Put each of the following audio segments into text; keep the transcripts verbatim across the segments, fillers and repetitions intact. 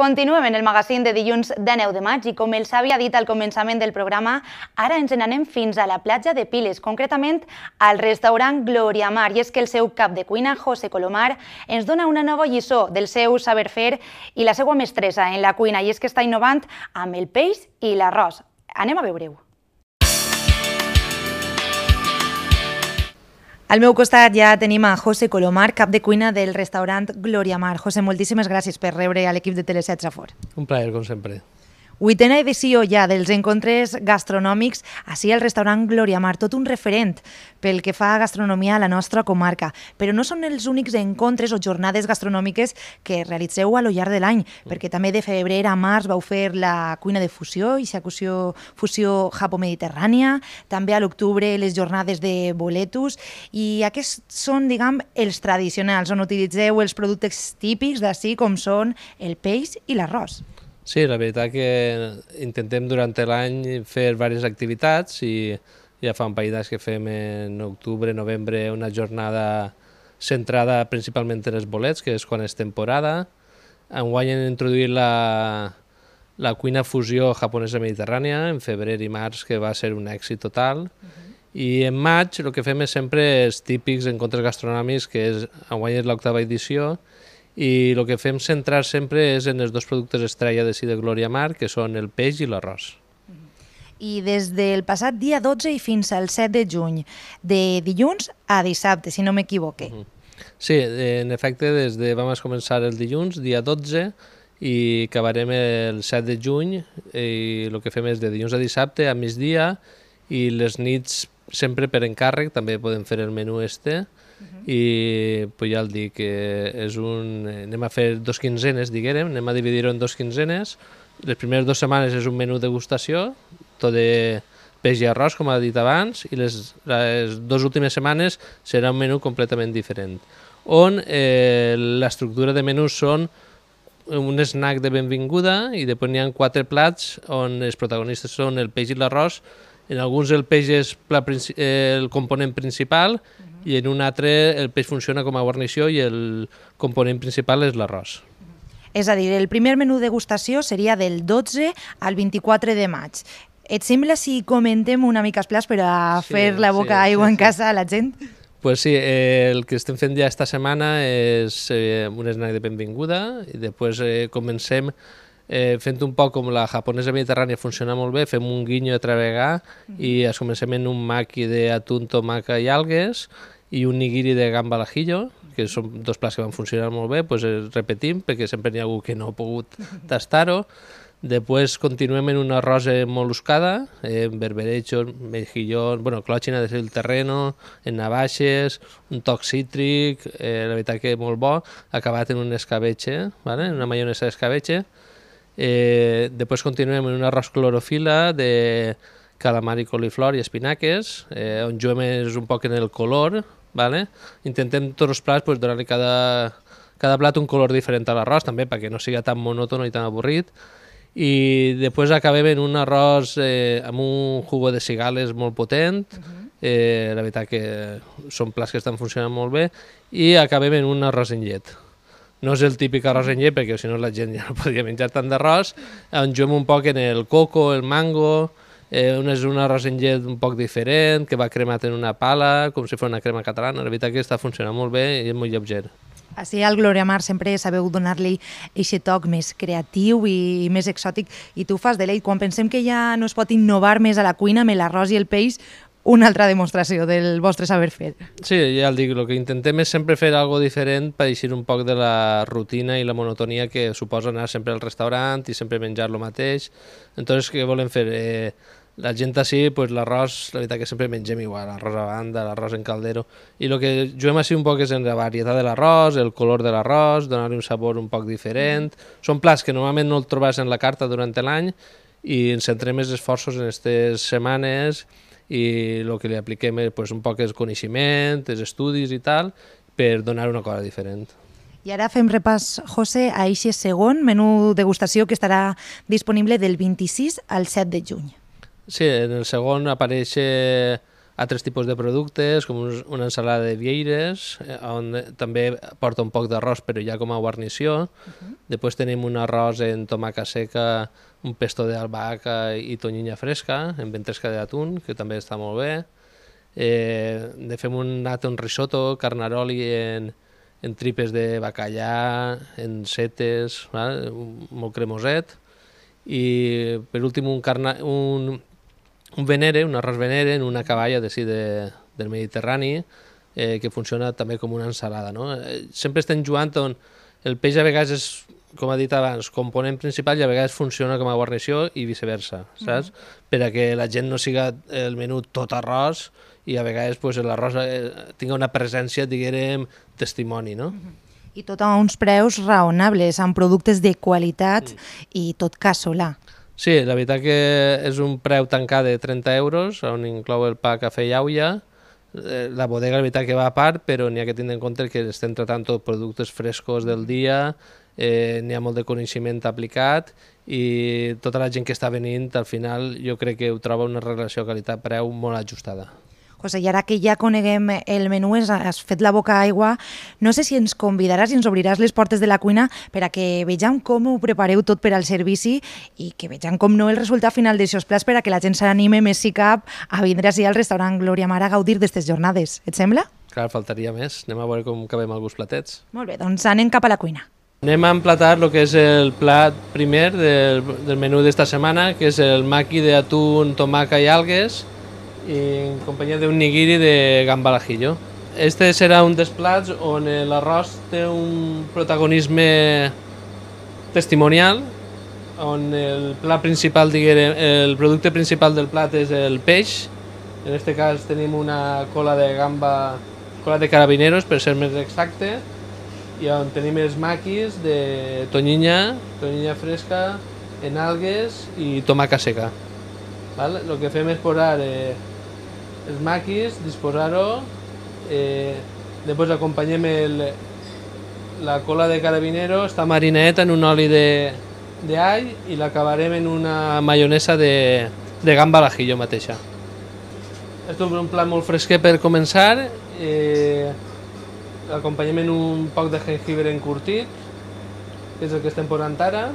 Continuem en el magazín de dilluns de nou de maig i com els havia dit al començament del programa, ara ens n'anem fins a la platja de Piles, concretament al restaurant Gloria Mar, i és que el seu cap de cuina, José Colomar, ens dona una nova lliçó del seu saber fer i la seva mestressa en la cuina, i és que està innovant amb el peix i l'arròs. Anem a veure-ho. Al meu costat ja tenim a José Colomar, cap de cuina del restaurant Gloria Mar. José, moltíssimes gràcies per rebre a l'equip de Teleset Safor. Un plaer, com sempre. Vuitena edició ja dels encontres gastronòmics així al restaurant Gloria Mar, tot un referent pel que fa a gastronomia a la nostra comarca. Però no són els únics encontres o jornades gastronòmiques que realitzeu a lo llarg de l'any, perquè també de febrer a març vau fer la cuina de fusió, i fusió, fusió japo-mediterrània, també a l'octubre les jornades de boletus, i aquests són, diguem, els tradicionals, on utilitzeu els productes típics d'ací, com són el peix i l'arròs. Sí, la veritat que intentem durant l'any fer diverses activitats i ja fa un parell d'anys que fem en octubre, novembre, una jornada centrada principalment en els bolets, que és quan és temporada. Enguany hem introduït la, la cuina fusió japonesa mediterrània en febrer i març, que va ser un èxit total. Uh-huh. I en maig el que fem és sempre els típics encontres gastronòmics, que és, enguany és l'octava edició, i el que fem centrar sempre és en els dos productes estrella de de Gloria Mar, que són el peix i l'arròs. I des del passat dia dotze i fins al set de juny, de dilluns a dissabte, si no m'equivoque. Uh-huh. Sí, en efecte, des de vam començar el dilluns, dia dotze, i acabarem el set de juny, i el que fem és de dilluns a dissabte, a migdia, i les nits sempre per encàrrec, també podem fer el menú este, Uh-huh. i pues ja el dic, que és un... anem a fer dos quinzenes, diguem, anem a dividir-ho en dos quinzenes. Les primeres dues setmanes és un menú degustació, tot de peix i arròs, com ha dit abans, i les, les dues últimes setmanes serà un menú completament diferent, on eh, l'estructura de menús són un snack de benvinguda i després n'hi ha quatre plats on els protagonistes són el peix i l'arròs. En alguns el peix és el component principal, uh-huh, i en un altre el peix funciona com a guarnició i el component principal és l'arròs. Uh-huh. És a dir, el primer menú degustació seria del dotze al vint-i-quatre de maig. Et sembla si comentem una mica els plats per a sí, fer la boca sí, aigua sí, en casa a la gent? Pues sí, eh, el que estem fent ja esta setmana és eh, un snack de benvinguda, i després eh, comencem Eh, fent un poc com la japonesa mediterrània funciona molt bé, fem un guinyo a travegar, mm-hmm, i es comencem en un maki d'atún, tomaca i algues i un nigiri de gamba al ajillo, que són dos plats que van funcionar molt bé, doncs eh, repetim, perquè sempre n'hi ha algú que no ha pogut tastar-ho. Després continuem en una arròs moluscada, eh, berberechos, mejillón, bueno, clòxina de el terreno, en navaixes, un toc cítric, eh, la veritat que molt bo, acabat en un escabeche, ¿vale? Una maionesa d'escabeche. Eh, després continuem en un arròs clorofila de calamar i coliflor i espinaques, eh, on juguem és un poc en el color, ¿vale? Intentem tots els plats pues, donar-li cada, cada plat un color diferent a l'arròs, també perquè no sigui tan monòton i tan avorrit. I després acabem en un arròs eh, amb un jugo de cigales molt potent, uh-huh, eh, la veritat que són plats que estan funcionant molt bé, i acabem en un arròs en llet. No és el típic arròs en llet, perquè si no la gent ja no podria menjar tant d'arròs, on juguem un poc en el coco, el mango, eh, un és un arròs en llet un poc diferent, que va cremat en una pala, com si fos una crema catalana. La veritat que està funcionant molt bé i és molt lleuger. Així al Gloria Mar sempre sabeu donar-li aquest toc més creatiu i més exòtic, i tu fas deleit. Quan pensem que ja no es pot innovar més a la cuina amb l'arròs i el peix, una altra demostració del vostre saber fer. Sí, ja el dic, el que intentem és sempre fer alguna cosa diferent per eixir un poc de la rutina i la monotonia que suposa anar sempre al restaurant i sempre menjar el mateix. Entonces, què volem fer? Eh, la gent així, pues, l'arròs, la veritat que sempre mengem igual, l'arròs a banda, l'arròs en caldero, i el que juguem així un poc és en la varietat de l'arròs, el color de l'arròs, donar-li un sabor un poc diferent. Són plats que normalment no el trobes en la carta durant l'any i ens centrem els esforços en aquestes setmanes i el que li apliquem és pues, un poc el coneixement, els estudis i tal, per donar una cosa diferent. I ara fem repàs, José, a aquest segon menú degustació que estarà disponible del vint-i-sis al set de juny. Sí, en el segon apareix altres tipus de productes, com una ensalada de vieires, on també porta un poc d'arròs, però ja com a guarnició. Uh-huh. Després tenim un arròs en tomaca seca, un pesto d'albahaca i tonyina fresca, en ventresca d'atún, que també està molt bé. Eh, de fem un atún risotto, carnaroli en, en tripes de bacallà, en setes, val? Molt cremoset. I per últim un, carna, un, un venere, un arròs venere en una caballa de, sí, de, del Mediterrani, eh, que funciona també com una ensalada. No? Eh, sempre estem jugant on el peix a vegades és, com ha dit abans, component principal i a vegades funciona com a guarnició i viceversa, saps? Mm-hmm. Per a que la gent no siga el menú tot arròs i a vegades pues, l'arròs eh, tingui una presència, diguem, testimoni, no? Mm-hmm. I tot a uns preus raonables, amb productes de qualitat mm. i tot casolà. Sí, la veritat que és un preu tancat de trenta euros, on inclou el pa, cafè i aula. La bodega, la veritat que va a part, però n'hi ha que tenir en compte que estem tratant tot productes frescos del dia, eh, n'hi ha molt de coneixement aplicat i tota la gent que està venint, al final, jo crec que ho troba una relació qualitat-preu molt ajustada. José, i ara que ja coneguem el menú, has fet la boca aigua, no sé si ens convidaràs i ens obriràs les portes de la cuina per a que vegem com ho prepareu tot per al servici i que vegem com no el resultat final d'aixòs plats per a que la gent s'anime més si cap a vindre així al restaurant Glòria Mar a gaudir d'aquestes jornades. Et sembla? Clar, faltaria més. Anem a veure com acabem alguns platets. Molt bé, doncs anem cap a la cuina. Anem a emplatar el que és el plat primer del, del menú d'esta setmana, que és el maqui d'atún, tomaca i algues, i en companyia d'un nigiri de gamba al ajillo. Este serà un dels plats on l'arròs té un protagonisme testimonial, on el plat principal, diguem, el producte principal del plat és el peix. En aquest cas tenim una cola de gamba, cola de carabineros, per ser més exacte, i on tenim els maquis de tonyina, tonyina fresca, en algues i tomaca seca. Val? El que fem és posar eh, els maquis, disposar-ho, eh, després acompanyem el, la cola de carabinero, està marineta en un oli d'all i l'acabarem en una maionesa de, de gamba al ajillo mateixa. És un plat molt fresquet per començar, eh, l'acompanyem en un poc de jengibre encurtit, que és el que estem posant ara,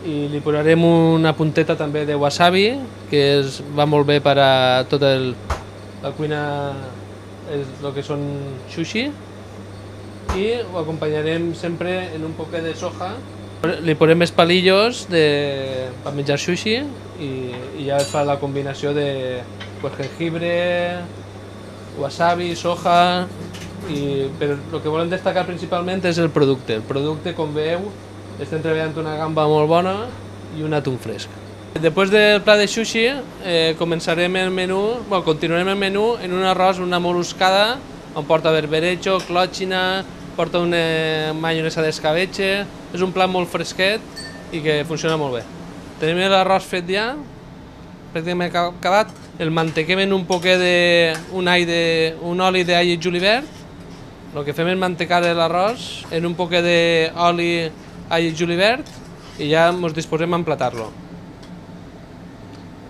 i li posarem una punteta també de wasabi, que és, va molt bé per a tota el, la cuina, és el que són sushi, i ho acompanyarem sempre en un poquet de soja. Li posem els palillos de, per menjar sushi i, i ja es fa la combinació de pues, jengibre, wasabi, soja, i, però el que volem destacar principalment és el producte. El producte, com veieu, estem treballant una gamba molt bona i un atún fresc. Després del plat de sushi eh, començarem el menú, bueno, continuarem el menú en un arròs, una moluscada, on porta berberecho, clòtxina, porta una maionesa d'escabetxe. És un plat molt fresquet i que funciona molt bé. Tenim l'arròs fet ja, pràcticament acabat. El mantequem en un poquet de, un, all de, un oli d'all i julivert. El que fem és mantecar l'arròs en un poquet d'oli all i julivert i ja ens disposem a emplatar-lo.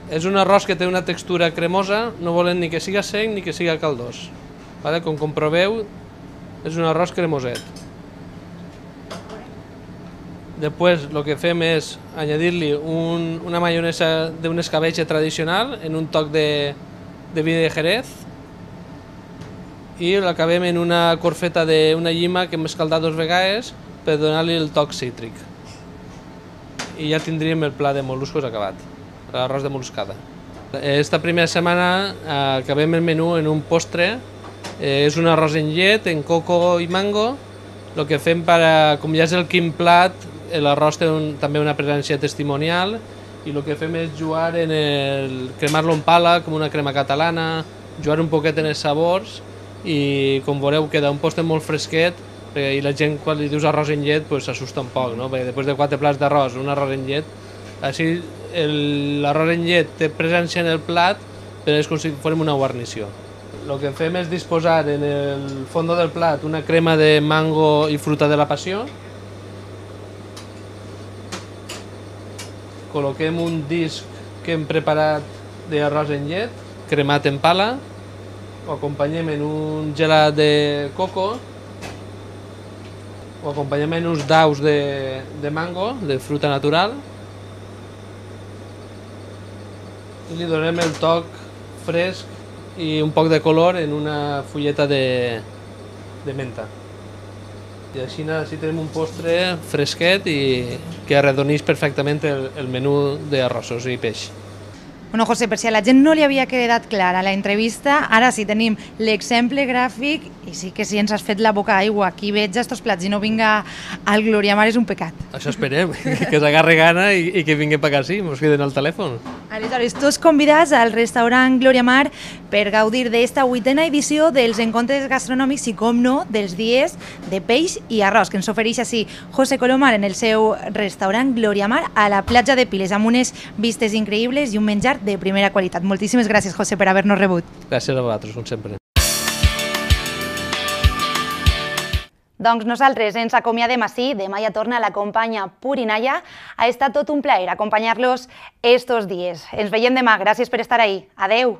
És un arròs que té una textura cremosa, no volem ni que siga sec ni que siga caldós. Vale? Com comproveu, és un arròs cremoset. Després el que fem és añadir-li un, una maionesa d'un escabetxe tradicional en un toc de, de vi de Jerez i l'acabem en una corfeta d'una llima que hem escaldat dos vegades per donar-li el toc cítric. I ja tindríem el plat de mol·luscos acabat, l'arròs de moluscada. Esta primera setmana acabem el menú en un postre, eh, és un arròs en llet, en coco i mango. El que fem, per a, com ja és el quin plat, l'arròs té un, també una presència testimonial i el que fem és jugar en el, cremar-lo en pala, com una crema catalana, jugar un poquet en els sabors i, com veureu, queda un postre molt fresquet i la gent, quan li dius arròs en llet, s'assusta un poc, no? Perquè després de quatre plats d'arròs, un arròs en llet, així l'arròs en llet té presència en el plat, però és com si fórem una guarnició. El que fem és disposar en el fons del plat una crema de mango i fruta de la passió. Col·loquem un disc que hem preparat d'arròs en llet, cremat en pala, ho acompanyem en un gelat de coco, ho acompanyem en uns daus de, de mango, de fruita natural, i li donem el toc fresc i un poc de color en una fulleta de, de menta. I així, així tenim un postre fresquet i que arredoneix perfectament el, el menú d'arrossos i peix. Bueno, José, per si a la gent no li havia quedat clara la entrevista, ara sí tenim l'exemple gràfic i sí que si ens has fet la boca aigua. Qui veig estos plats i no vinga al Gloriamar és un pecat. Això esperem, que s'agarre gana i, i que vinguin per acá, sí, mos queden al telèfon. Aleshores, tots convidats al restaurant Gloriamar per gaudir d'esta vuitena edició dels encontres gastronòmics i, com no, dels dies de peix i arròs, que ens ofereix així José Colomar en el seu restaurant Gloriamar a la platja de Piles, amb unes vistes increïbles i un menjar de primera qualitat. Moltíssimes gràcies, José, per haver-nos rebut. Gràcies a vosaltres, com sempre. Doncs nosaltres ens acomiadem així. Demà ja torna la companya Purinaya. Ha estat tot un plaer acompanyar-los estos dies. Ens veiem demà. Gràcies per estar ahí. Adeu.